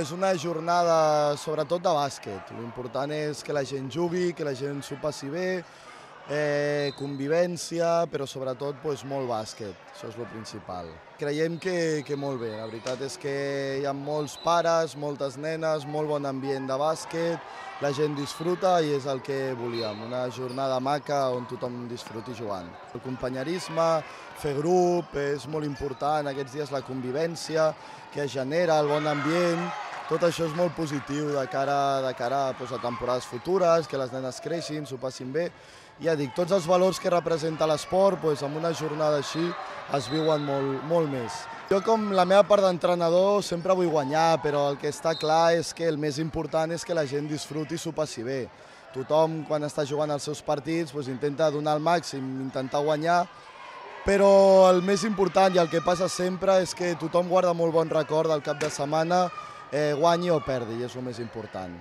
És una jornada sobretot de bàsquet. L'important és que la gent jugui, que la gent s'ho passi bé, convivència, però sobretot molt bàsquet. Això és el principal. Creiem que molt bé. La veritat és que hi ha molts pares, moltes nenes, molt bon ambient de bàsquet, la gent disfruta i és el que volíem, una jornada maca on tothom disfruti jugant. El companyerisme, fer grup, és molt important, aquests dies la convivència que es genera, el bon ambient, tot això és molt positiu de cara a temporades futures, que les nenes creixin, s'ho passin bé. Ja dic, tots els valors que representa l'esport, en una jornada així es viuen molt més. Jo, com la meva part d'entrenador, sempre vull guanyar, però el que està clar és que el més important és que la gent disfruti i s'ho passi bé. Tothom, quan està jugant els seus partits, intenta donar el màxim, intentar guanyar, però el més important i el que passa sempre és que tothom guarda molt bon record del cap de setmana, guanyi o perdi, i és el més important.